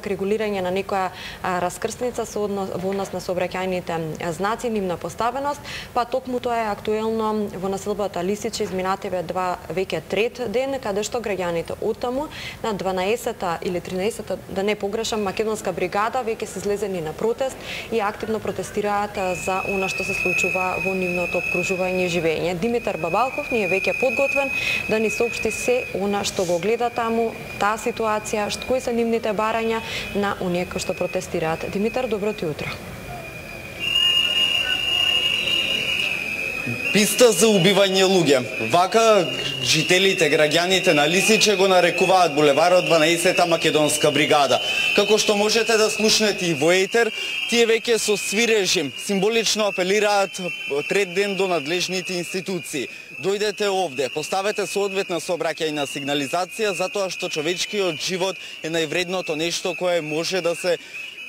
регулирање на некоја раскрсница во однос на сообраќајните знаци, нивна поставеност, па токму тоа е актуелно во населбата Лисиче изминативе веќе трет ден, каде што граѓаните оттаму на 12-та или 13-та, да не погрешам, македонска бригада веќе се излезени на протест и активно протестираат за она што се случува во нивното обкружување и живење. Димитар Бабалков ни е веќе подготвен да ни соопшти се она што го гледа таму, таа ситуација, кои се нивните барања на оние кои што протестираат. Димитар, доброто утро. Писта за убивање луѓе. Вака жителите, граѓаните на Лисиче го нарекуваат булеварот 12-та македонска бригада. Како што можете да слушнете и во етер, тие веќе со свирежи символично апелираат трет ден до надлежните институции. Дојдете овде, поставете соодветна сообраќајна сигнализација, затоа што човечкиот живот е највредното нешто кое може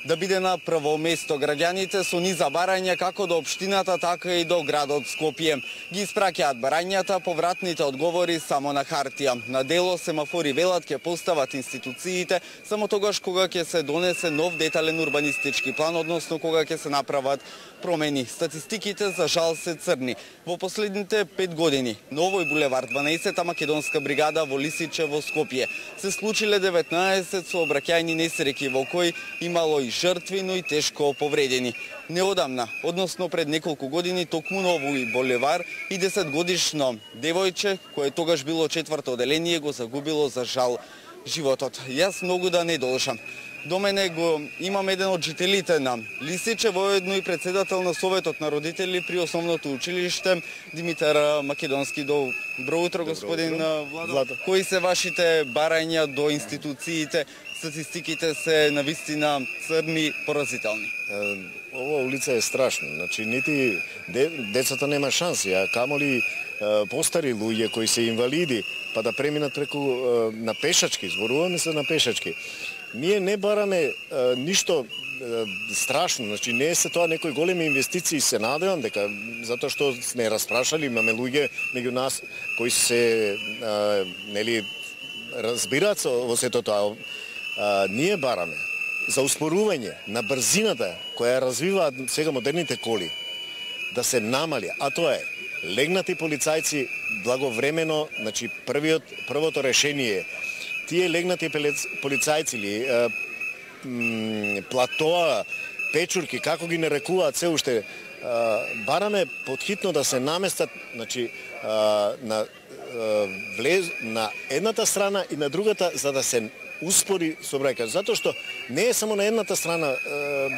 да биде на прво место. Граѓаните со низа барања како до општината, така и до градот Скопје. Ги испраќаат барањата, повратните одговори само на хартија. На дело семафори велат ќе постават институциите само тогаш кога ќе се донесе нов детален урбанистички план, односно кога ќе се направат промени. Статистиките за жал се црни. Во последните 5 години на овој булевар 12-та македонска бригада во Лисиче во Скопје се случиле 19 сообраќајни несреќи во кои имало и жртви, но и тешко повредени. Неодамна, односно пред неколку години, токму на овој булевар и 10-годишно девојче, кое тогаш било 4-то оделение, го загубило за жал животот. Јас многу да не должам. До мене го имам еден од жителите на Лисиче, воедно и председател на Советот на родители при основното училиште, Димитар Македонски. Добро утро, господин Владо. Кои се вашите барања до институциите? Статистиките се навистина црни, поразителни. Ова улица е страшна. Значи, нити децата нема шанси, а камоли постари луѓе кои се инвалиди, па да преминат преку на пешачки, зборуваме се на пешачки. Ние не бараме ништо страшно, значи не е се тоа некои големи инвестиции, се надевам дека затоа што сме распрашали, имаме луѓе меѓу нас кои се разбираат во сето тоа. Ние бараме за успорување на брзината која развиваат сега модерните коли да се намали, а тоа е легнати полицајци благовремено, значи првото решение. Тие легнати полицајци или платоа, печурки, како ги нарекуваат се уште, бараме подхитно да се наместат, значи на едната страна и на другата, за да се успори сообраќајот, затоа што не е само на едната страна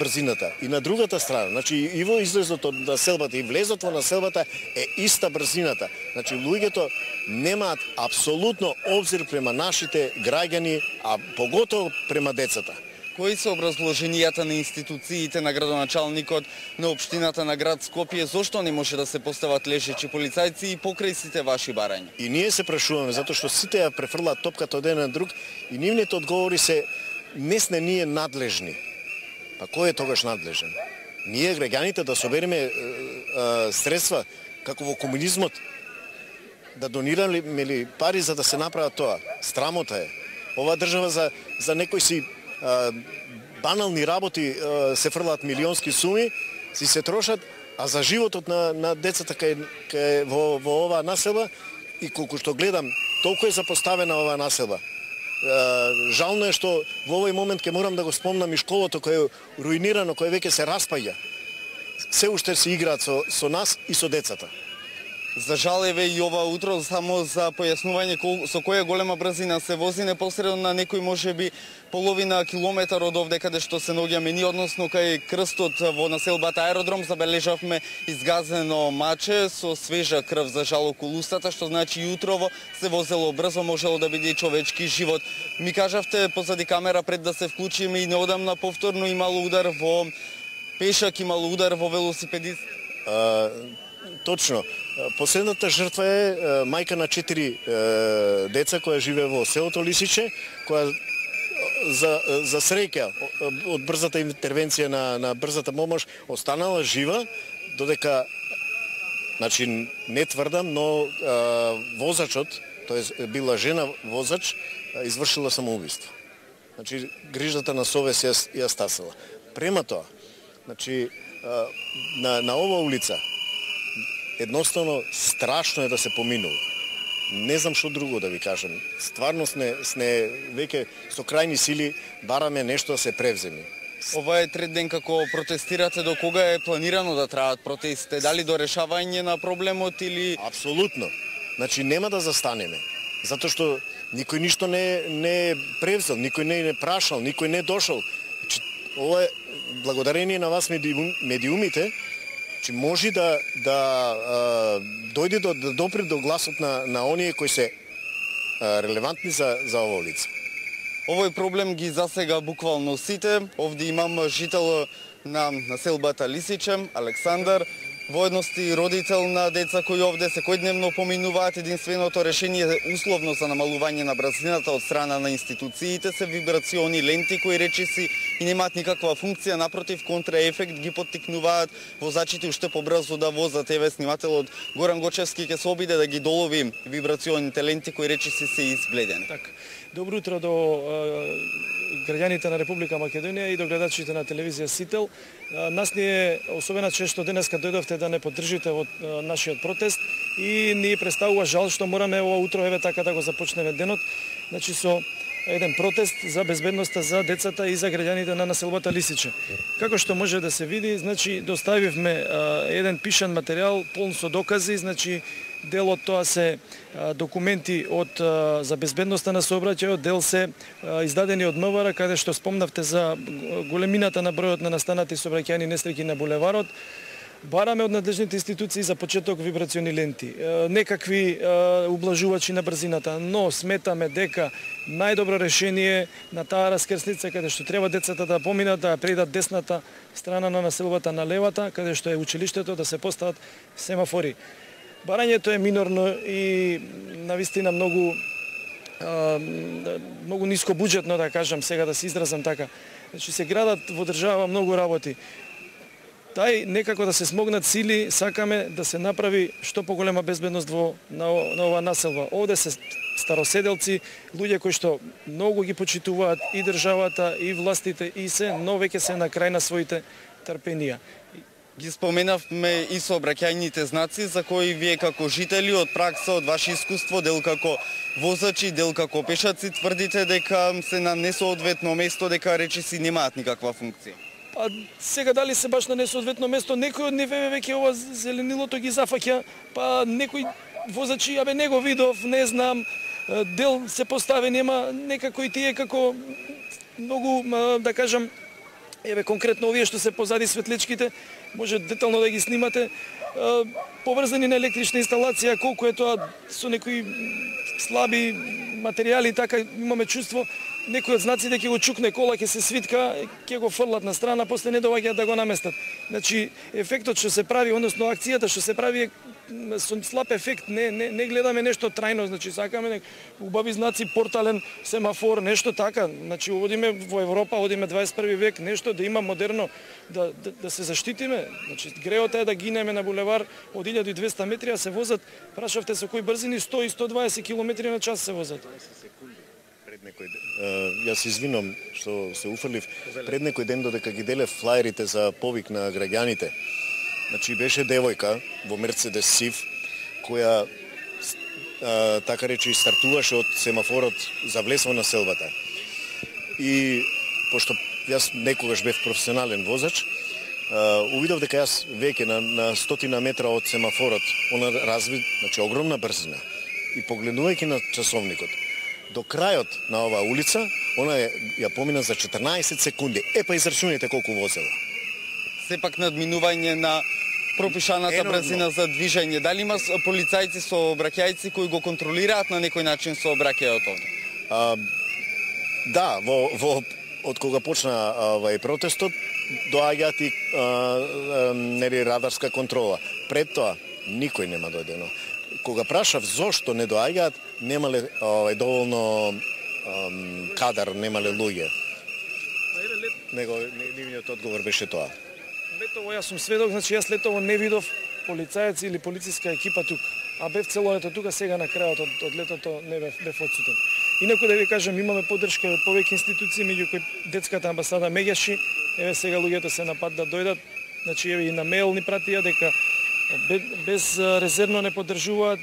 брзината, и на другата страна, значи и во излезот од населбата и влезот во населбата е иста брзината. Значи луѓето немаат апсолутно обзир према нашите граѓани, а поготово према децата. Кои се образложенијата на институциите, на градоначалникот, на општината на град Скопје, зошто не може да се постават лежечи полицајци и покрај сите ваши барања? И ние се прашуваме, затоа што сите ја префрлаат топката од еден на друг и нивните одговори се не сме ние надлежни. Па кој е тогаш надлежен? Ние граѓаните да собереме средства како во комунизмот, да донираме ли пари за да се направат тоа? Срамота е. Ова држава за некои си банални работи се фрлаат милионски суми, си се трошат, а за животот на децата кај во оваа населба, и колку што гледам, толку е запоставена оваа населба. Жално е што во овој момент ќе морам да го спомнам и школото кој е руинирано, кој веќе се распаѓа. Се уште се играат со нас и со децата. За жал еве и ова утро, само за појаснување со која голема брзина се вози, непосредно на некој можеби половина километар од овде каде што се наоѓаме ние, односно кај крстот во населбата Аеродром, забележавме изгазено маче со свежа крв, за жал, околу устата, што значи и утрово се возело брзо, можело да биде и човечки живот. Ми кажавте позади камера пред да се вклучиме и неодамна повторно имало удар во пешак, имало удар во велосипедист. Точно. Последната жртва е мајка на 4 деца која живее во селото Лисиче, која за среќа од брзата интервенција на брзата помош останала жива, додека, значи не тврдам, но возачот, тоест била жена возач, извршила самоубиство. Значи, грижата на совест ја стасила. Према тоа, значи, на ова улица, едноставно страшно е да се поминува. Не знам што друго да ви кажам. Стварно сме веќе со крајни сили бараме нешто да се превземи. Ова е трет ден како протестирате, до кога е планирано да траат протестите? Дали до решавање на проблемот или... Апсолутно. Значи нема да застанеме. Затоа што никој ништо не превзел, никој не прашал, никој не дошол. Значи, ова е благодарение на вас медиумите, че може да дојде да допре до гласот на оние кои се релевантни за ова улица. Овој проблем ги засега буквално сите. Овде имам жител на населбата Лисиче, Александар, воедности родител на деца кои овде секојдневно поминуваат. Единственото решение условно за намалување на брзината од страна на институциите се вибрациони ленти кои речиси и немаат никаква функција, напротив контраефект ги поттикнуваат возачите уште побрзо да возат. Еве снимателот Горан Гочевски ќе се обиде да ги долови вибрационите ленти кои речиси се избледени. Так. Добро утро до граѓаните на Република Македонија и до гледачите на телевизија Сител. Нас ни е особена чест што денеска дојдовте да не поддржите од нашиот протест и ни представува жал што мораме ова утро еве така да го започнеме денот. Значи со еден протест за безбедноста за децата и за граѓаните на населбата Лисиче. Како што може да се види, значи доставивме еден пишан материјал полн со докази, значи дел од тоа се документи за безбедноста на сообраќајот, дел се издадени од МВР, каде што спомнавте за големината на бројот на настанати сообраќајни несреќи на булеварот. Бараме од надлежните институции за почеток вибрациони ленти, некакви ублажувачи на брзината, но сметаме дека најдобро решение на таа раскрсница каде што треба децата да поминат, да предат десната страна на населбата на левата, каде што е училиштето, да се постават семафори. Барањето е минорно и навистина многу ниско буџетно, да кажам, сега да се изразам така. Значи се градат во држава многу работи. Тај некако да се смогнат сили, сакаме да се направи што поголема безбедност на оваа населба. Овде се староседелци, луѓе кои што многу ги почитуваат и државата, и властите, и се, но веќе се на крај на своите трпенија. Ги споменавме и сообраќајните знаци за кои вие како жители од пракса, од ваше искуство, дел како возачи, дел како пешаци, тврдите дека се на несоодветно место, дека речиси немаат никаква функција. Па сега дали се баш на несоодветно место, некој од ниве веќе ова зеленилото ги зафаќа, па некој возачи, не го видов, не знам, дел се постави, нема некако и тие како многу, да кажам, еве конкретно овие што се позади светличките, може детално да ги снимате, поврзани на електрична инсталација, колку е тоа со некои слаби материјали, така имаме чувство, некој од знаците ќе го чукне кола, ќе се свитка, ќе го фрлат на страна, после не доаѓаат да го наместат. Значи, ефектот што се прави, односно акцијата што се прави е со слаб ефект, не гледаме нешто трајно, значи сакаме убави знаци, портален семафор, нешто така. Значи, одиме во Европа, одиме 21 век, нешто да има модерно, да се заштитиме. Значи, греот е да гинеме на булевар од 1200 метри, а се возат, прашавте со кои брзини, 100 и 120 км на час се возат. Јас се извинувам што се уфрлив. Пред некој ден додека ги делев флаерите за повик на граѓаните, значи беше девојка во Мерцедес Сив, која така речи стартуваше од семафорот за влез во населбата. И пошто јас некогаш бев професионален возач, увидов дека јас веќе на 100 метра од семафорот, она разви, значи огромна брзина. И погледнувајќи на часовникот, до крајот на оваа улица, она ја помина за 14 секунди. Па израчунете колку возела. Сепак надминување на пропишаната брзина за движење. Дали има полицајци сообраќајци кои го контролираат на некој начин сообраќајот овде? Да, од кога почна овај протестот, доаѓаат и радарска контрола. Пред тоа никој нема дојдено. Кога прашав зошто не доаѓаат, немале доволно кадар, немале луѓе. Нивниот одговор беше тоа. Летово јас сум сведок, значи јас летово не видов полицајци или полициска екипа тука. А бев цело лето тука, сега на крајот од летото не бев одсутен. Инаку да ви кажам, имаме поддршка од повеќе институции, меѓу кои детската амбасада Меѓаши. Еве сега луѓето се на пат да дојдат. Значи еве и на мејл ни пратија дека без резервно не поддржуваат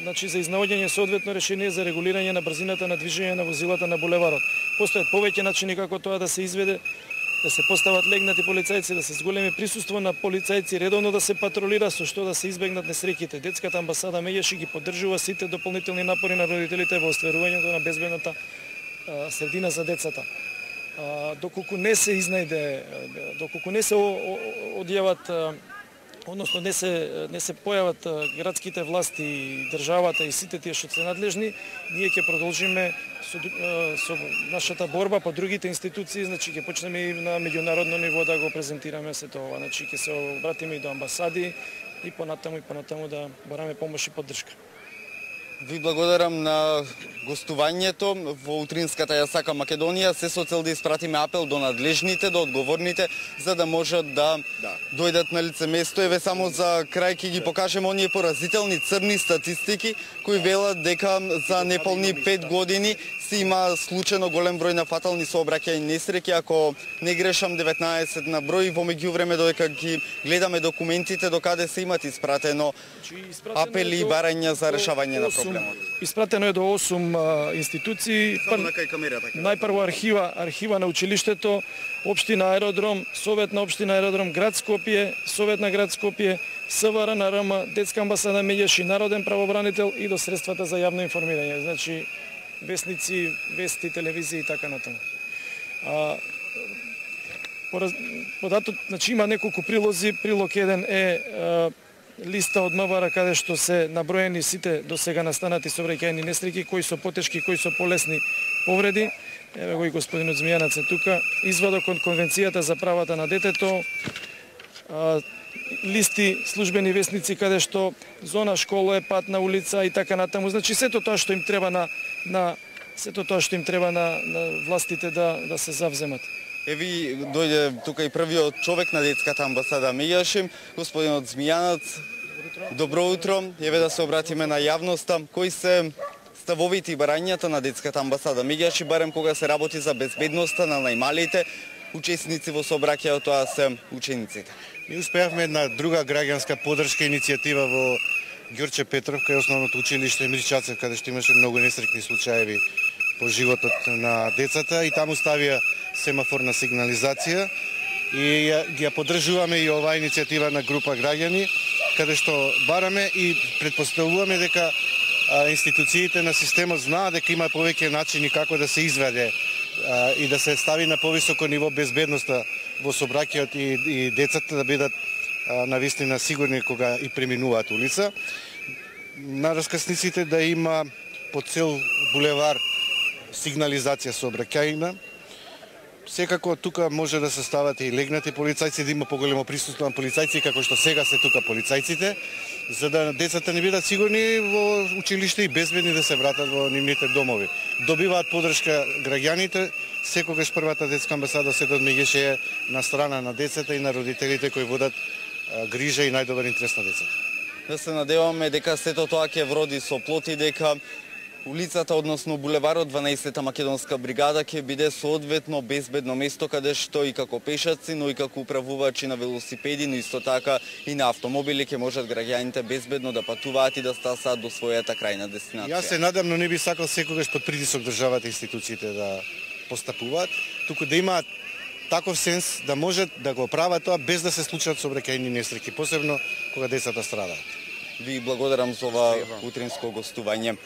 значи за изнаоѓање соодветно решение за регулирање на брзината на движење на возилата на булеварот. Постојат повеќе начини како тоа да се изведе, да се постават легнати полицајци, да се зголеми присуство на полицајци, редовно да се патролира, со што да се избегнат несреќите. Детската амбасада Меѓаши ги поддржува сите дополнителни напори на родителите во остварувањето на безбедната средина за децата. Доколку не се изнајде, доколку не се одјават, односно не се појават градските власти и државата и сите тие што се надлежни, ние ќе продолжиме со нашата борба по другите институции, значи ќе почнеме и на меѓународно ниво да го презентираме сето ова, значи ќе се обратиме и до амбасади и понатаму да бараме помош и поддршка. Ви благодарам на гостувањето во утринската Ја сакам Македонија. Се со цел да испратиме апел до надлежните, до одговорните, за да можат да дојдат на лице место. Еве само за крај ќе ги покажеме оние поразителни црни статистики кои велат дека за неполни 5 години се има случајно голем број на фатални сообраќајни несреќи, ако не грешам 19 на број. Во меѓувреме додека ги гледаме документите до каде се имат испратено апели и барања за решавање на проблемот. Испратено е до 8 институции. Најпрво архива на училиштето, општина Аеродром, Совет на општина Аеродром, град Скопје, Совет на град Скопје, СВР на РМ, Детска амбасада Меѓаши, Народен правобранител и до средствата за јавно информирање. Значи вестници, вести, телевизија и така натаму. Значи има неколку прилози. Прилог 1 е листа од МВР каде што се наброени сите до сега настанати сообраќајни несреќи, кои со потешки, кои со полесни повреди. Еве го и господинот Змијанац е тука. Извадок од Конвенцијата за правата на детето, листи, службени вестници каде што зона школа е патна улица и така натаму. Значи сето тоа што им треба на властите да се завземат. Еви дојде тука и првиот човек на детската амбасада Меѓаши, господинот Змијанац. Добро утро. Еве да се обратиме на јавноста. Кои се ставовите и барањата на детската амбасада Меѓаши, барем кога се работи за безбедноста на најмалите учесници во сообраќајот, тоа се учениците? Ние успеавме една друга граѓанска поддршка иницијатива во Ѓорче Петров, кај основното училиште Мирчацев, каде што имаше многу несреќни случаеви по животот на децата, и таму ставија семафорна сигнализација и ја поддржуваме и оваа иницијатива на група граѓани, каде што бараме и претпоставуваме дека институциите на системот знаат дека има повеќе начини како да се изведе и да се стави на повисоко ниво безбедноста во сообраќајот и децата да бидат навистина сигурни кога и преминуваат улица. На раскрсниците да има по цел булевар сигнализација сообраќајна. Секако тука може да се стават и легнати полицајци, да има поголемо присуство на полицајци, како што сега се тука полицајците, за да децата не бидат сигурни во училиште и безбедни да се вратат во нивните домови. Добиваат поддршка граѓаните, секогаш првата детска амбасада Светот Меѓаши е на страна на децата и на родителите кои водат грижа и најдобар интерес на децата. Да се надеваме дека сето тоа ќе вроди со плоти, дека улицата, односно булеварот 12-та македонска бригада ќе биде соодветно безбедно место каде што и како пешаци, но и како управувачи на велосипеди, но исто така и на автомобили ќе можат граѓаните безбедно да патуваат и да стасаат до својата крајна дестинација. Јас се надам, но не би сакал секогаш под притисок државата и институциите да постапуваат, туку да имаат таков сенс да можат да го прават тоа без да се случат сообраќајни несреќи, посебно кога децата страдаат. Ви благодарам за ова утринско гостување.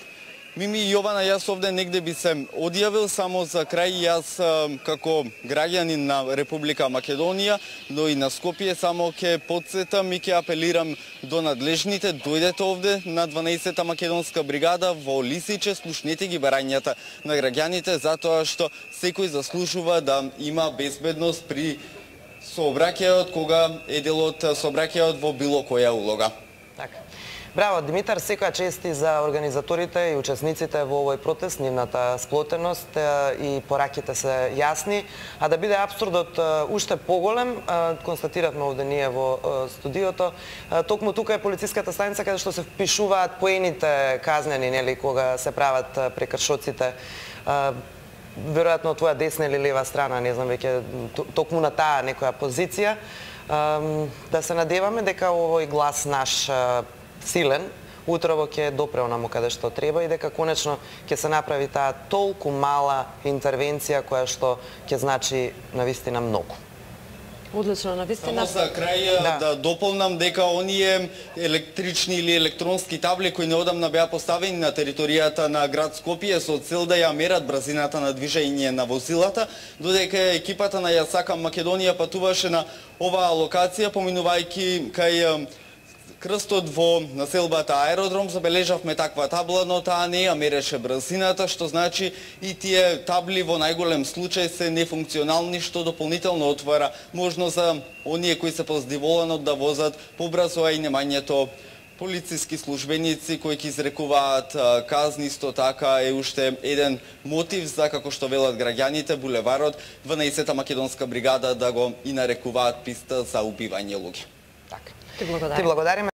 Мими и Јована, јас овде негде би се одјавил, само за крај јас како граѓанин на Република Македонија, но и на Скопје, само ќе потсетам и ќе апелирам до надлежните, дојдете овде на 12-та македонска бригада во Лисиче, слушнете ги барањата на граѓаните, затоа што секој заслужува да има безбедност при сообраќајот, кога е дел од сообраќајот во било која улога. Така. Браво, Димитар, секоја чест и за организаторите и учесниците во овој протест, нивната сплотеност и пораките се јасни, а да биде апсурдот уште поголем, констатиравме овде ние во студиото, токму тука е полициската станица каде што се впишуваат поените казнени, нели, кога се прават прекршоците. Веројатно од твоја десна или лева страна, не знам веќе, токму на таа некоја позиција. Да се надеваме дека овој глас наш силен, утрово ќе допре онаму каде што треба и дека конечно ќе се направи таа толку мала интервенција која што ќе значи навистина многу. Одлично, навистина. Само за крај да дополнам дека оние електрични или електронски табли кои неодамна беа поставени на територијата на град Скопје со цел да ја мерат брзината на движење на возилата, додека екипата на Ја сакам Македонија патуваше на оваа локација, поминувајќи кај крстот во населбата Аеродром, забележавме таква табла, но таа не ја мереше брзината, што значи и тие табли во најголем случај се нефункционални, што дополнително отвара можност за оние кои се поздиволано да возат побрзо, а и немањето полициски службеници кои ќе изрекуваат казни, исто така е уште еден мотив за, како што велат граѓаните, булеварот 12-та македонска бригада да го и нарекуваат писта за убивање луѓе. Ти благодариме.